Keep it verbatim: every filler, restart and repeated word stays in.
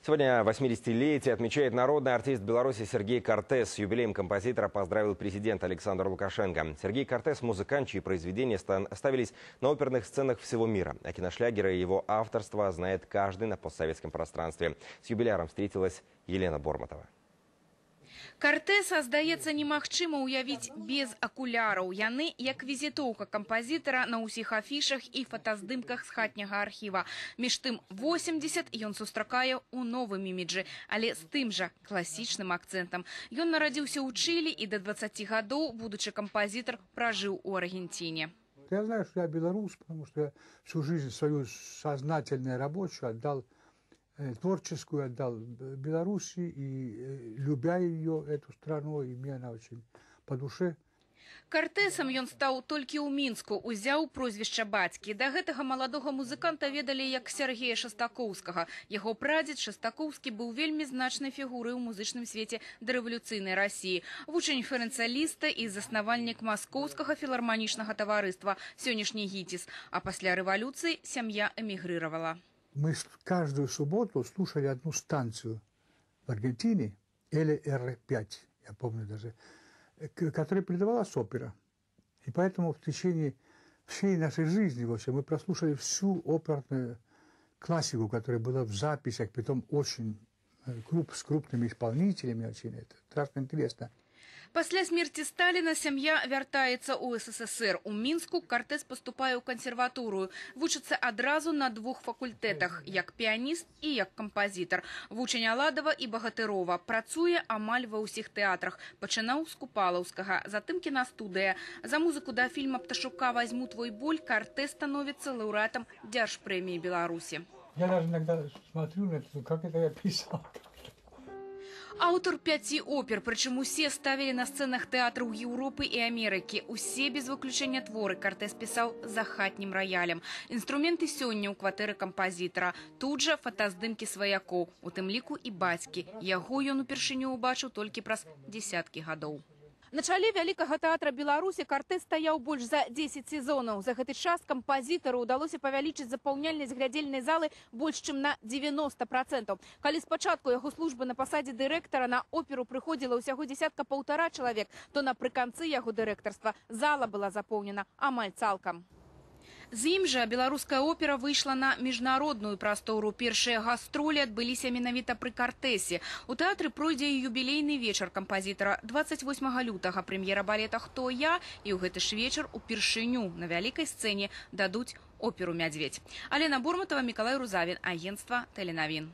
Сегодня восьмидесятилетие отмечает народный артист Беларуси Сергей Кортес. С юбилеем композитора поздравил президент Александр Лукашенко. Сергей Кортес – музыкант, чьи произведения ставились на оперных сценах всего мира. А киношлягеры и его авторство знает каждый на постсоветском пространстве. С юбиляром встретилась Елена Бормотова. Кортеса, здаецца, немагчыма уявіць без акуляраў. Яны як візітоўка кампазітара на ўсіх афішах і фотаздымках з хатняга архіва. Між тым восемьдесят ён сустракае ў новым іміджы, але з тым жа класічным акцэнтам. Ён нарадзіўся ў Чылі і да двадцати гадоў, будучы кампазітар, пражыў у Аргентине. Я знаю, что я белорус, потому что я всю жизнь свою сознательную рабочую отдал, творческую отдал Беларуси, и любя ее, эту страну, и мне она очень по душе. Кортесам ён стаў толькі ў Мінску, узяў прозвішча бацькі. Да гэтага маладога музыканта ведалі як Сергея Шастакоўскага. Яго прадзед Шастакоўскі быў вельмі значнай фігурай у музычным свеце дарэвалюцыйнай Расіі. Вучань ферэнцаліста і заснавальнік маскоўскага філарманічнага таварыства, сённяшні гіціс. А пасля рэвалюцыі сям'я эмігрыравала. Мы каждую субботу слушали одну станцию в Аргентине, эл эр пять, я помню даже, которая передавалась опера. И поэтому в течение всей нашей жизни вообще мы прослушали всю оперную классику, которая была в записях, притом очень круп, с крупными исполнителями. Очень это страшно интересно. Пасля смерти Сталина сям'я вяртаецца ў эс эс эс эр. У Мінску Кортес паступае ў кансерваторыю. Вучыцца адразу на двух факультэтах, як піяніст і як кампазітар. Вучань Аладава і Багатырова. Працуе амаль ва ўсіх тэатрах. Пачынаў з Купалаўскага, затым кінастудыя. За музыку да фільма «Пташука возьму твой боль» Кортес становіцца лаўрэатам Дзяржпрэміі Беларусі. Я даже иногда смотрю на это, как это я писал. Аўтар пяці опер, прычым усе ставілі на сцэнах тэатраў Еўропы і Амерыкі. Усе без выключэння творы Кортес пісаў за хатнім раялем. Інструменты сёння ў кватэры кампазітара. Тут жа фотаздымкі сваякоў, у тым ліку і бацькі. Яго ён упершыню ўбачыў толькі праз дзесяткі гадоў. На чале вялікага тэатра Беларусі Кортес стаяў больш за дзесяць сезонаў. За гэты час кампазітару ўдалося павялічыць запаўняльнасць глядзельнай залы больш чым на дзевяноста процентаў. Калі спачатку яго службы на пасадзе дырэктара на оперу прыходзіла ўсяго дзесятка-паўтара чалавек, то напрыканцы яго дырэктарства зала была запоўнена амаль цалкам. З ім жа беларуская опера выйшла на міжнародную прастору. Першыя гастролі адбыліся менавіта пры Кортесе. У тэатры пройдзе і юбілейны вечар кампазітара. двадцать восьмага лютага прэм'ера балета «Хто я?» І ў гэты ж вечар упершыню на вялікай сцэне дадуць оперу «Мядзведь». Елена Бормотова, Миколай Рузавин, агентство Теленовин.